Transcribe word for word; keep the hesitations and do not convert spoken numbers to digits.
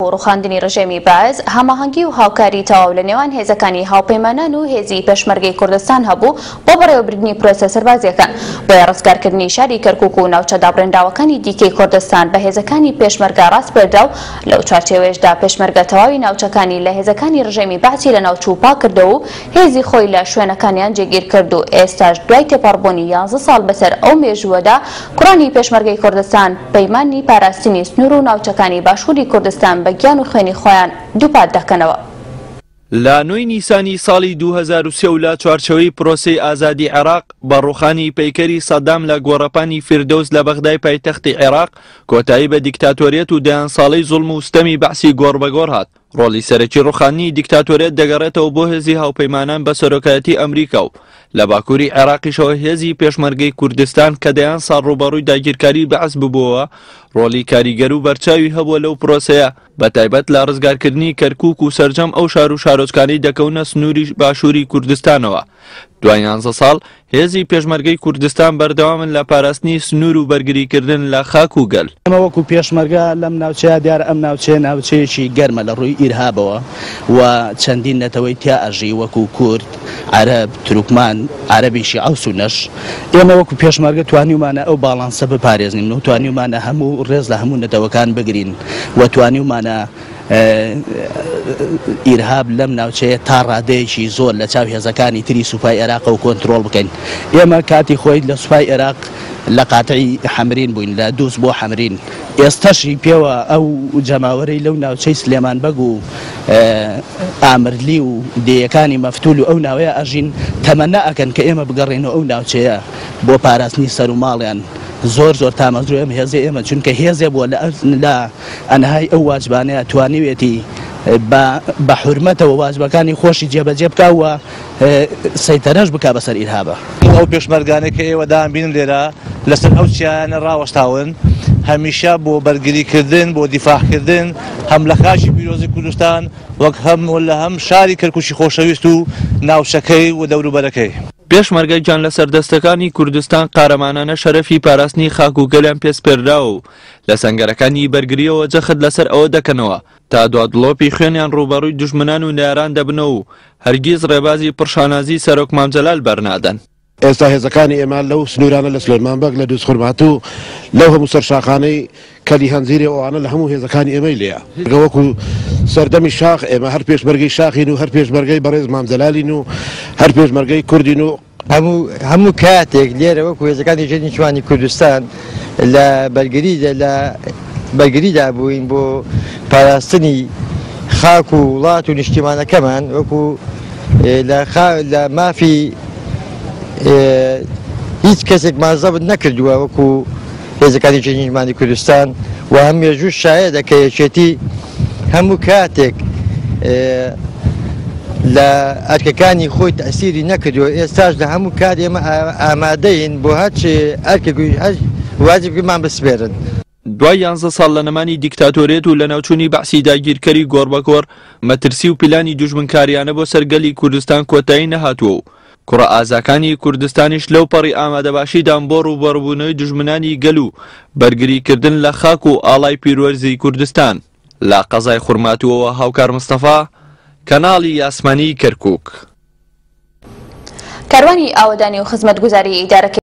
و ڕوخاندنی ڕژێمی بەعس هەماهەنگی و هاوکاری تەواو لە نێوان هێزەکانی هاوپەیمانان و هێزی پێشمەرگەی کوردستان هەبوو بۆ بەڕێوەبردنی پرۆسە سەربازیەکان. بۆیە ڕزگارکردنی شاری کەرکوک و ناوچە دابڕێنراوەکانی دیکەی کوردستان بە هێزەکانی پێشمەرگە ڕاسپێردرا و لەو چوارچێوەیەشدا پێشمەرگە تەواوی ناوچەکانی لە هێزەکانی ڕژێمی بەعسی لە ناوچوو پاک کردەوە و هێزی خۆی لە شوێنەکانیان جێگیر کرد و ئێستاش دوای تێپەڕبوونی یانزە ساڵ بەسەر ئەو مێژووەدا کوڕانی پێشمەرگەی کوردستان پەیمانی پاراستنی سنوور و ناوچەکانی باشووری کوردستان بە گیان و خوێنی خۆیان دووپات دەکەنەوە. لە نۆی نیسانی ساڵی دوو هەزار و سێ و لە چوارچێوەی پرۆسەی ئازادی عێراق بە ڕوخانی پەیکەری سەدام لە گۆڕەپانی فیردەوس لە بەغدای پایتەختی عێراق کۆتایی بە دیکتاتۆریەت و دەیان ساڵەی زوڵم و ستەمی بەعسی گۆڕ بە گۆڕ هات. ڕۆڵی سەرەکی ڕوخانی دیکتاتۆریەت دەگەڕێتەوە بۆ هێزی هاوپەیمانان بە سەرۆکایەتی ئەمریکا و لە باکووری عێراقیشەوە هێزی پێشمەرگەی کوردستان کە دەیان ساڵ ڕووبەڕووی داگیرکاری بەعس ببووەوە ڕۆڵی کاریگەر و بەرچاوی هەبووە لەو پرۆسەیە، بە تایبەت لە ڕزگارکردنی کەرکوک و سەرجەم ئەو شار و شارۆچکانەی دەکەونە سنووری باشووری کوردستانەوە. دوای یانزە ساڵ هێزی پێشمەرگەی کوردستان بەردەوامن لە پاراستنی سنوور و بەرگریکردن لە خاک و گەل. ئێمە وەکو پێشمەرگە لەم ناوچەیە دیارە ئەم ناوچەیە ناوچەیەکی گەرمە لە ڕووی ئیرهابەوە و چەندین نەتەوەی تیا ئەژی وەکو کورد، عەرەب، تورکمان، عەرەبی شیعە و سوننەش. ئێمە وەکو پێشمەرگە توانیومانە ئەو باڵانسە بپارێزنین و توانیومانە هەموو ڕێز لە هەموو نەتەوەکان بگرین و توانیومانە ئیرهاب لەم ناوچەیە تا ڕادەیەکی زۆر لە چاو هێزەکانی تری سوپای عێراق و کۆنترۆڵ بکەین. ئێمە کاتی خۆی لە سوپای عێراق لە قاتعی حەمرین بووین، لە دووس بۆ حەمرین. ئێستەشی پێوە ئەو جەماوەرەی لەو ناوچەی سلێمان بەگ و ئامرلی و دێیەکانی مەفتول و ئەو ناوەیە ئەژین تەمەنا ئەکەن کە ئێمە بگەڕێنەوە ئەو ناوچەیە بۆ پاراستنی سەر و ماڵیان. زۆر زۆر تامەزرۆ ئەم هێزێ ئێمە، چونکە هێزێ بووە لە ئەنهای ئەو واجبانەیە توانیوێتی بە حورمەتەوە واجبەکانی خۆشی جێبەجێ بکا و سەیتەرەش بکا بەسەر ئیرهابە. ئەو پێشمەرگانەی کە ئێوە دامبینن لێرە لەسەر ئەو چیایانە ڕاوەستاون هەمیشە بۆ بەرگریکردن، بۆ دیفاعکردن هەم لە خاکی پیرۆزی کوردستان وەک هەم لە هەم شاری کەرکوکی خۆشەویست و ناوچەکەی و دەوروبەرەکەی. پێشمەرگە گیان لە سەردەستەکانی کوردستان قارەمانانە شەرەفی پاراستنی خاک و گەلیان پێسپێردراوە و لە سەنگەرەکانی بەرگریەوە جەخت لەسەر ئەوە دەکەنەوە تا دوا دڵۆپی خوێنیان ڕووبەڕووی دوژمنان و نەیاران دەبنەوە و هەرگیز ڕێبازی پڕشانازی سەرۆک مام جەلال بەرنادەن. ئێستا هێزەکانی ئێمە لەو سنوورانە لە سلێمان بەگ، لە دووزخورماتوو، لەو هەموو سەرشاخانەی کەلی هەنجیرێ ئەوانە لە هەموو هێزەکانی ئێمەی لێیە. وەکو سەردەمی شاخ ئێمە هەر پێشمەرگەی شاخین و هەر پێشمەرگەی بەڕێز مام جەلالین و هەر پێشمەرگەی کوردین و هەموو هەموو کاتێک لێرە وەکو هێزەکانی ژێر نیشتمانی کوردستان لە بەرگری لە بەرگریدا بووین بۆ پاراستنی خاک و وڵات و نیشتیمانەکەمان، وەکو لە مافی هیچ کەسێکمان زەبت نەکردووە وەکو هێزەکانی ژێر نیشتمانی کوردستان و هەم مێژوو شایەدە کە یەکێتی هەموو کاتێک لە ئەرکەکانی خۆی تەسیری نەکردووە. ئێستاش لە هەموو کات ئێمە ئامادەین بۆ هەرچ ئەرکێک هەر واجبمان بسپێرن. دوای یانزە ساڵ لە نەمانی دیکتاتۆریەت و لە ناوچوونی بەعسی داگیرکەری گۆڕبەگۆڕ مەترسی و پیلانی دوژمنکاریانە بۆ سەر گەلی کوردستان کۆتایی نەهاتووە و کوڕە ئازاکانی کوردستانیش لەو پەڕی ئامادەباشیدان بۆ ڕووبەڕووبوونەوەی دوژمنانی گەل و بەرگریکردن لە خاک و ئاڵای پیرۆزی کوردستان. لە قەزای خورماتووەوە هاوکار مستەفا، کەناڵی ئاسمانی کەرکوک. کاروانی ئاوەدانی و خزمەتگوزاری ئیدارەکەی